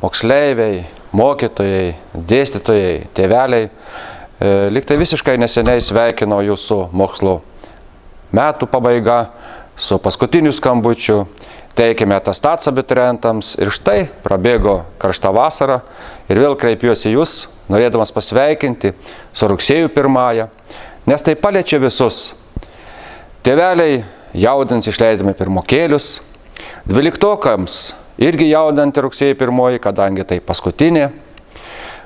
moksleiviai, mokytojai, dėstytojai, tėveliai, lyg tai visiškai neseniai sveikino jūsų mokslo metų pabaiga su paskutiniu skambučiu, teikėme atestatus abiturientams ir štai prabėgo karšta vasara ir vėl kreipiuosi jūs, norėdamas pasveikinti su rugsėjo 1, nes tai paliečia visus. Tėveliai jaudins išleisdami pirmokėlius, 12-okams irgi jaudinti rugsėjo 1, kadangi tai paskutinė.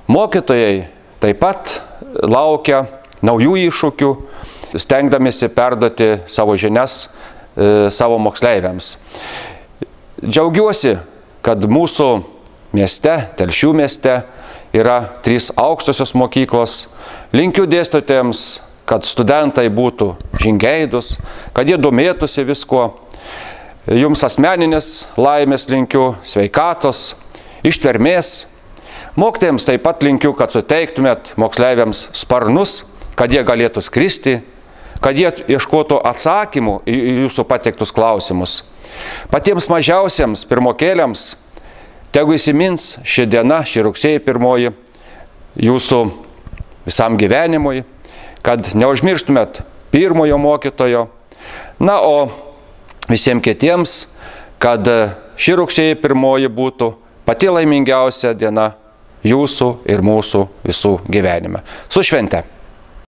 Mokytojai taip pat laukia naujų iššūkių, stengdamėsi perduoti savo žinias savo moksleiviams. Džiaugiuosi, kad mūsų mieste, Telšių mieste, yra 3 aukštosios mokyklos. Linkiu dėstytojams, kad studentai būtų žingeidūs, kad jie domėtųsi viskuo. Jums asmeninės laimės linkiu, sveikatos, ištvermės. Mokytojams taip pat linkiu, kad suteiktumėt moksleiviams sparnus, kad jie galėtų skristi, kad jie ieškotų atsakymų į jūsų pateiktus klausimus. Patiems mažiausiems pirmokėliams tegu įsimins ši diena, ši rugsėjo 1 jūsų visam gyvenimui, kad neužmirštumėt pirmojo mokytojo. Na, o visiems kitiems, kad ši rugsėjo 1 būtų pati laimingiausia diena jūsų ir mūsų visų gyvenime. Su švente!